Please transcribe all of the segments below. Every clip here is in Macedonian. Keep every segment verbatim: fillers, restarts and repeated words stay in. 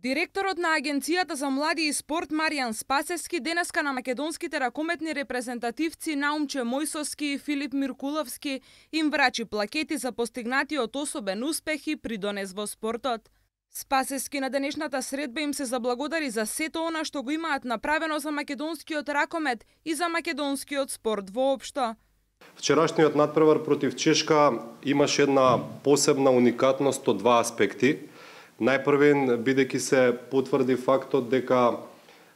Директорот на Агенцијата за млади и спорт Маријан Спасевски денеска на македонските ракометни репрезентативци Наумче Мојсовски и Филип Миркуловски им врачи плакети за постигнатиот особен успех и придонес во спортот. Спасевски на денешната средба им се заблагодари за сето она што го имаат направено за македонскиот ракомет и за македонскиот спорт воопшто. Вчерашниот натпревар против Чешка имаше една посебна уникатност од два аспекти. Најпрвен, бидејќи се потврди фактот дека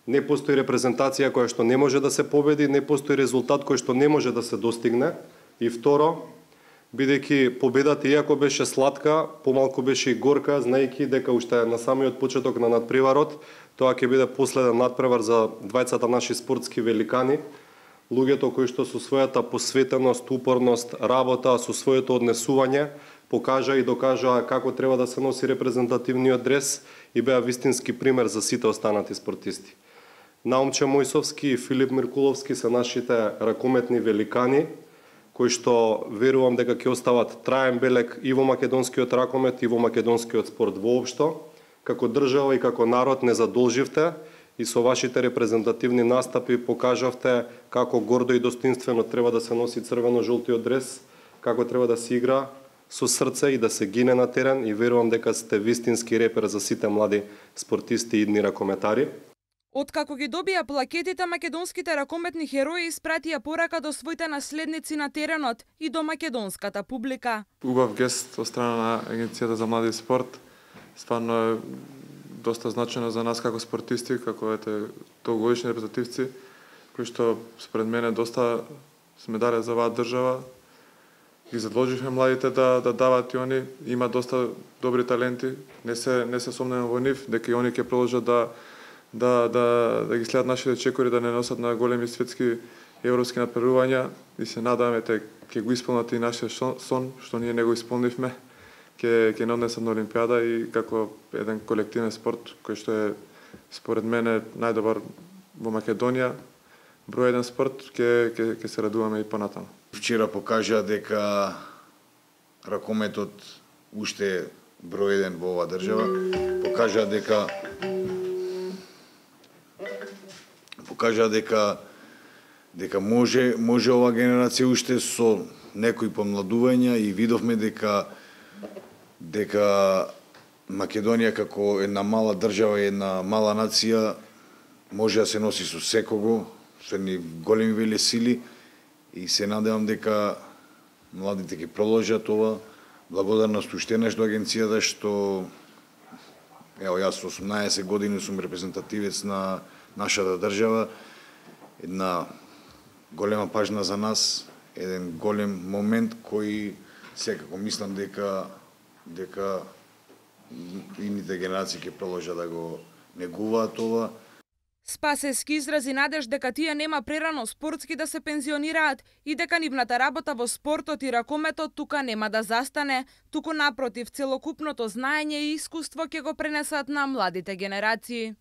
не постои репрезентација која што не може да се победи, не постои резултат кој што не може да се достигне. И второ, бидејќи победата иако беше сладка, помалку беше и горка, знаејќи дека уште на самиот почеток на натпреварот, тоа ќе биде последен натпревар за двајцата наши спортски великани, луѓето кои што со својата посветеност, упорност, работа, со своето однесување, покажа и докажа како треба да се носи репрезентативниот дрес и беа вистински пример за сите останати спортисти. Наумче Мојсовски и Филип Миркуловски се нашите ракометни великани, кои што верувам дека ќе остават траен белег и во македонскиот ракомет и во македонскиот спорт воопшто. Како држава и како народ не задолживте и со вашите репрезентативни настапи покажавте како гордо и достоинствено треба да се носи црвено-жолтиот дрес, како треба да се игра со срце и да се гине на терен, и верувам дека сте вистински репер за сите млади спортисти и идни ракометари. Откако ги добија плакетите, македонските ракометни херои испратија порака до своите наследници на теренот и до македонската публика. Убав гест од страна на Агенцијата за млади и спорт. Стварно е доста значено за нас како спортисти, како ете долгогодишни репрезентативци, кои што според мене доста сме дале за оваа држава. Ги задолживме младите да да дават и они, има доста добри таленти, не се не се сомневам во нив дека и они ќе продолжат да да да да ги следат нашите чекори, да не носат на големи светски европски натпреварувања, и се надаме те ќе го исполнат и нашиот сон што ние не го исполнивме, ќе ќе не однесат на Олимпијада и како еден колективен спорт кој што е според мене најдобар во Македонија, број еден спорт, ќе ќе ќе се радуваме и понатаму. Вчера покажа дека ракометот уште е број еден во оваа држава. Покажа дека покажа дека дека може може оваа генерација уште со некои помладувања, и видовме дека дека Македонија како една мала држава и една мала нација може да се носи со секого, со едни големи велесили. И се надевам дека младите ќе продолжат ова. Благодарност уште нешто агенцијата што ево јас со осумнаесет години сум репрезентативец на нашата држава. Една голема пажна за нас, еден голем момент кој секако мислам дека дека идните генерации ќе продолжат да го негуваат ова. Спасевски изрази надеж дека тие нема прерано спортски да се пензионираат и дека нивната работа во спортот и ракометот тука нема да застане, туку напротив, целокупното знаење и искуство ќе го пренесат на младите генерации.